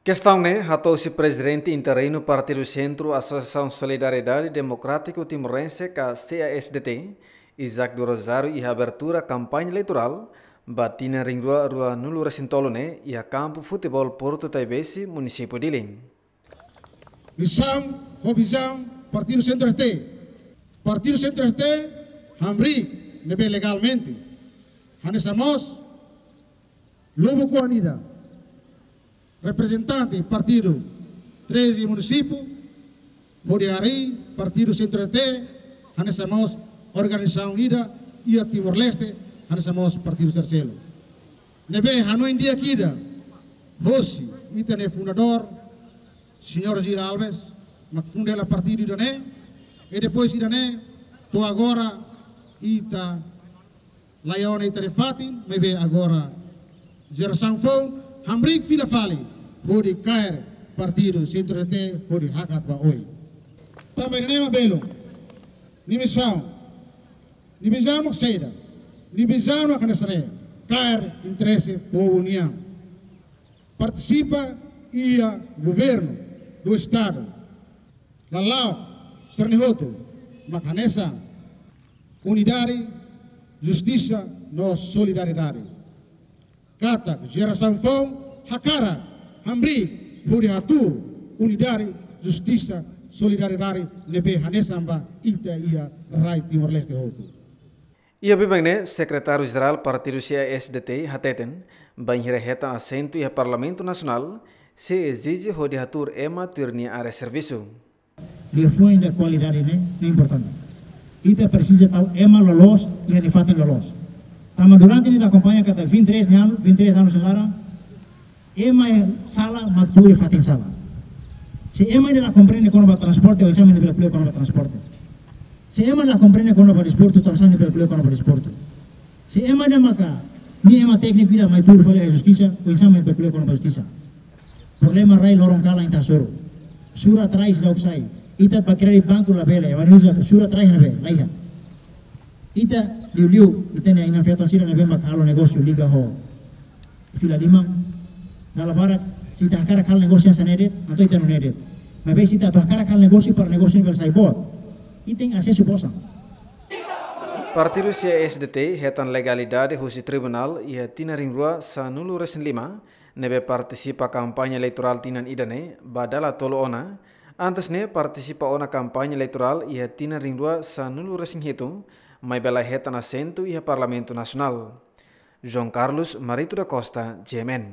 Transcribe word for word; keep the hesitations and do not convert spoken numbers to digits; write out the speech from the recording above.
Kestaun ne'e hato'o husi Prezidente Interinu Partidu Sentru Asosiasaun Solidariedade Demokrátiku Timorense ka C A S D T, Isaac do Rosário, iha abertura kampaña eleitorál ba tinan rihun rua ruanulu resin tolu ne'e iha kampu futeból Portu Taibesi, Munisípiu Dili. Misaun ho vizaun Partidu Sentru S T. Partidu Sentru S T hamriik ne'ebé legalmente. Hanesan mós lubuk oan ida, reprezentante partidu treze munisípiu, hodi harii Partidu Sentru S T, hanesan mós organizasaun ida iha Timor-Leste, hanesan mós Partidu Sentru S T. Ne'ebé hanoin di'ak ida hosi ita-nia fundadór, Señór Gira Alves, mak funda hela partidu ida-ne'e, i depois ida-ne'e, to'o agora, ita laiha ona ita-nia fatin, maibé agora jerasaun foun hamriik fila fali hodi kaer Partidu Sentru S T hodi hakat ba oin. Tanba ida-ne'e mak belun. Nia misaun, nia vizaun mak saida? Nia vizaun mak hanesan ne'e: kaer interese povu nian. Partisipa iha governu do estadu. Lala'ok sira-ne'e hotu mak hanesan unidade, justisa no solidariedade. Katak jerasaun foun hakarak hamriik hodi hatuur unidade, justisa, solidariedade ne'ebé hanesan ba ita iha rai Timor-Leste hotu. Iha biban ne'e, Sekretáriu Jerál Partidu C A S D T hateten, bainhira hetan asentu iha Parlamentu Nasionál, sei ezije hodi hatuur ema tuir nia área servisu. Liafuan ida kualidade ne'e, ne'e importante. Ita presiza tau ema loloos iha nia fatin loloos. Tanba durante ne'e ita akompaña katak vinte e três anu, vinte e três anus nia laran, ema iha sala mak tuur iha fatin sala. Se ema ida la komprende kona-ba transporte, oinsá mak nia bele ko'alia kona-ba transporte? Se ema la komprende kona-ba desportu, oinsá mak nia bele ko'alia kona-ba desportu? Se ema ida maka, nia ema tékniku ida mai tuur fali iha justisa, oinsá mak nia bele ko'alia kona-ba justisa? Problema rai loron kalan ita hasoru. Surat rai seidauk sai. Ita bá kréditu banku labele, ema Indonézia, surat rai ne'ebé, laiha. Ita liuliu, ita-nia inan-feton sira ne'ebé mak halo negósiu liga ho fila liman. Dala barak, se ita hakarak halo negósiu hanesan ne'e de'it, entaun ita nune'e de'it. Maibé se ita atu hakarak halo negósiu para negósiu ne'e bele sai boot, ita tenke asesu ba osan. Partidu C A S D T hetan legalidade husi tribunál iha tinan rihun rua sanulu resin lima, ne'ebé partisipa kampaña eleitorál tinan ida-ne'e ba dala tolu ona. Antes ne'e partisipa ona kampaña eleitorál iha tinan rihun rua sanulu resin hitu, maibé la hetan asentu iha Parlamentu Nasionál. João Carlos Marito da Costa, G M N.